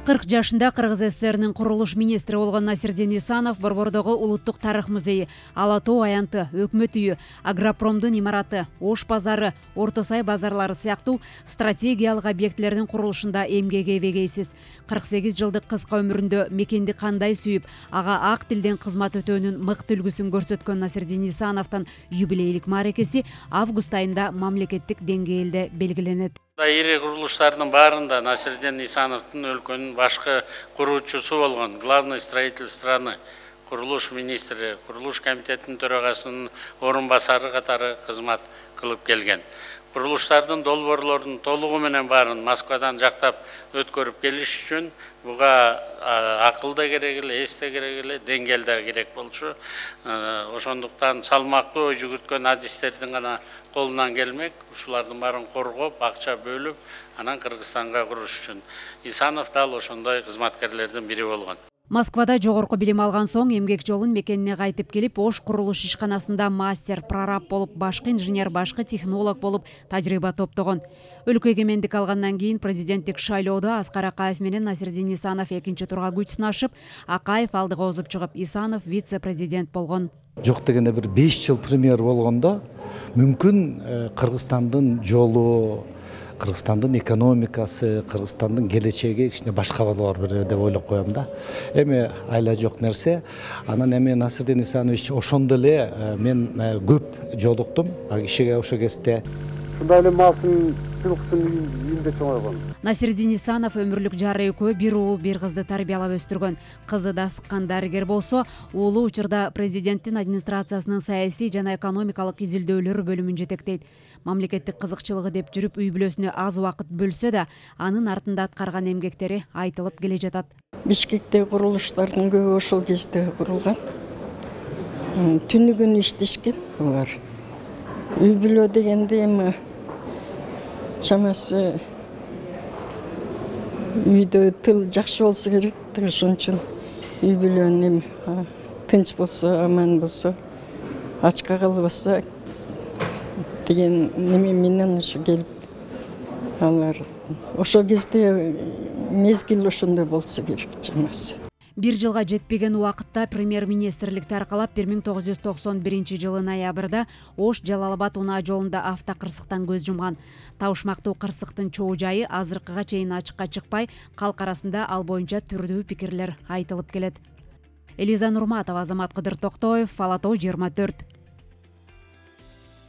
40 жашында Кыргыз ССРнин курулуш министри болгон Насирдин Исанов Борбордогу Улуттук тарых музейи, Ала Тоо аянты, Өкмөт үйү, Агропромдун имараты, Ош базары, Орто Сай базарлары сыяктуу стратегиялык объектилердин курулушунда эмгеги эбегейсиз. 48 жылдык кыска өмүрүндө мекенди кандай сүйүп, ага ак тилден кызмат өтөөнүн мыкты үлгүсүн көрсөткөн Насирдин Исановдун юбилейлик мааракеси август айында мамлекеттик деңгээлде белгиленет. Ири курулуштардын баарында Насирдин Исановдун өлкөнүн башкы куруучусу болгон главный строитель страны, курулуш министри, курулуш комитетинин төрагасынын орун басары катары кызмат кылып келген. Курулуштардын долбоорлорунун толугу менен баарын Москвадан жактап өткөрүп келиш үчүн буга акыл да керек эле, эс да керек эле, деңгээл да керек болчу. Ошондуктан салмактуу ой жүгүрткөн адистердин гана колунан келмек, ушулардын баарын коргоп, акча бөлүп, анан Кыргызстанга куруш үчүн. Исанов дал ошондой кызматкерлердин бири болгон. Москвада жогорку билим алган соң эмгек жолун мекенине кайтып келип, Ош курулуш ишканасында мастер, прораб болуп, башкы инженер, башкы технолог болуп тажрыйба топтогон. Өлкө эгемендик алгандан кийин президенттик шайлоодо Аскар Акаев менен Насирдин Исанов экинчи турга күч сынашып, Акаев алдыга озуп чыгып, Исанов вице-президент болгон. Жок дегенде бир 5 жыл премьер болгондо мүмкүн Кыргызстандын жолу, Кыргызстандын экономикасы, Кыргызстандын келечеги кичине башка болоор деп ойлоп коем да. Эми айла жок нерсе. Анан эми Насирдин Исанович ошондо эле мен көп жолуктум ал кишиге ошол кезде. Ушундай эле малдын жылкысын үйүндө чоңойгон. Насирдин Исанов өмүрлүк жары экөө бир уул бир кызды тарбиялап өстүргөн. Кызы да сыккан дарыгер болсо, уулу учурда президенттин администрациясынын саясий жана экономикалык изилдөөлөр бөлүмүн жетектейт. Мамлекеттик кызыкчылыгы деп жүрүп үй бүлөсүнө аз убакыт бөлсө да, анын артында аткарган эмгектери айтылып келе жатат. Бишкектеги курулуштардын көбү ошол кезде курулган. Түнү күнү иштешкен булар. Үй бүлө дегенде эми чамасы үйдө тыл жакшы болсо керек. Ошон үчүн үй бүлөнүн тынч болсо, аман болсо, ачка калбаса деген неме менен ошо келип алар. Ошол кезде мезгил ошондой болсо керек чамасы. Бир жылга жетпеген убакытта премьер-министрликти аркалап 1991 жылы ноябрда Ош Жалал-Абад унаа жолунда автокырсыктан көз жумган. Табышмактуу кырсыктын чоо жайы азыркыга чейин ачыкка чыкпай, калк арасында ал боюнча түрдүү пикирлер айтылып келет. Элиза Нурматова, Азамат Кыдыр Токтоев, Ала Тоо 24.